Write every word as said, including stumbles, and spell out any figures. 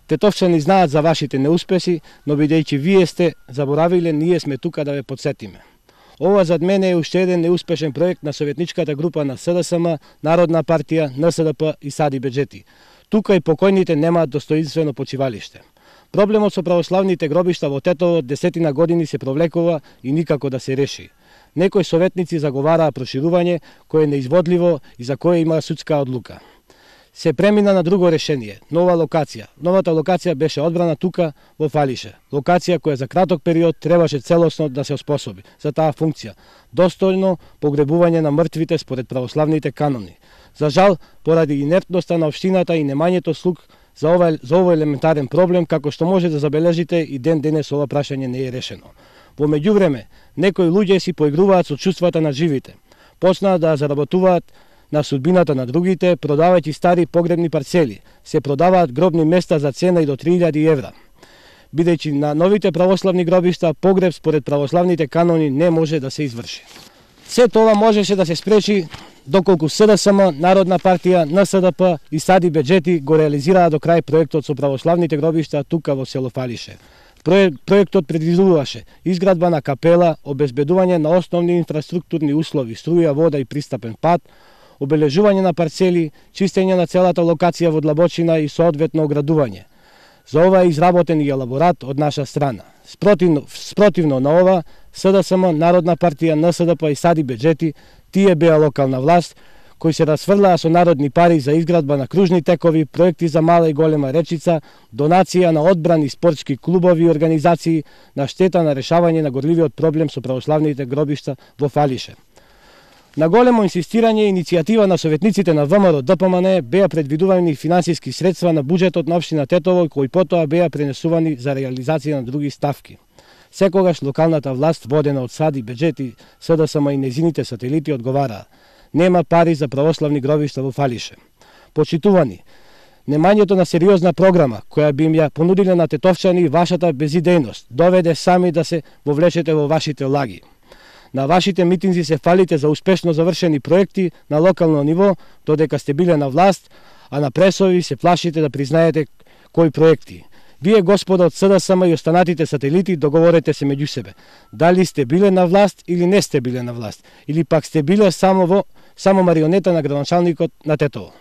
Тетовчани знаат за вашите неуспеси, но бидејќи вие сте заборавиле, ние сме тука да ве подсетиме. Ова зад мене е уште еден неуспешен проект на советничката група на С Д С М, Народна партија, Н С Д П и Сади Беџети. Тука и покојните немаат достоинствено почивалиште. Проблемот со православните гробишта во Тетово десетина години се провлекува и никако да се реши. Некои советници заговараа проширување кое е неизводливо и за кое има судска одлука. Се премина на друго решение, нова локација. Новата локација беше одбрана тука во Фалише. Локација која за краток период требаше целосно да се оспособи за таа функција. Достојно погребување на мртвите според православните канони. За жал, поради инертноста на општината и немањето слух за ова, за ова елементарен проблем, како што може да забележите, и ден денес ова прашање не е решено. Во меѓувреме, некои луѓе си поигруваат со чувствата на живите. Почнаа да заработуваат на судбината на другите, продавајќи стари погребни парцели. Се продаваат гробни места за цена и до три илјади евра. Бидејќи на новите православни гробишта погреб според православните канони не може да се изврши. Се тоа можеше да се спречи доколку С Д С М, Народна партија, Н С Д П и Сади Беџети го реализираа до крај проектот со православните гробишта тука во село Фалише. Проектот предвидуваше изградба на капела, обезбедување на основни инфраструктурни услови, струја, вода и пристапен пат, обележување на парцели, чистење на целата локација во длабочина и соодветно оградување. За ова е изработен и елаборат од наша страна. Спротивно, спротивно на ова, С Д С М, Народна партија, Н С Д П и Сади Беџети, тие беа локална власт, кои се расфрлаа со народни пари за изградба на кружни текови, проекти за мала и голема речица, донација на одбрани спортски клубови и организации на штета на решавање на горливиот проблем со православните гробишта во Фалише. На големо инсистирање и иницијатива на советниците на В М Р Д П М Н беа предвидувани финансиски средства на буџетот на општина Тетово, кои потоа беа пренесувани за реализација на други ставки. Секогаш локалната власт, водена од Сади Беџети, С Д С М и незините сателити, одговараа: нема пари за православни гробишта во Фалише. Почитувани, немањето на сериозна програма, која би им ја понудиле на тетовчани вашата безидејност, доведе сами да се вовлечете во вашите лаги. На вашите митинзи се фалите за успешно завршени проекти на локално ниво, додека сте биле на власт, а на пресови се плашите да признаете кои проекти. Вие, господа од С Д С М и останатите сателити, договорете се меѓу себе. Дали сте биле на власт или не сте биле на власт, или пак сте биле само во само марионета на градоначалникот на Тетово.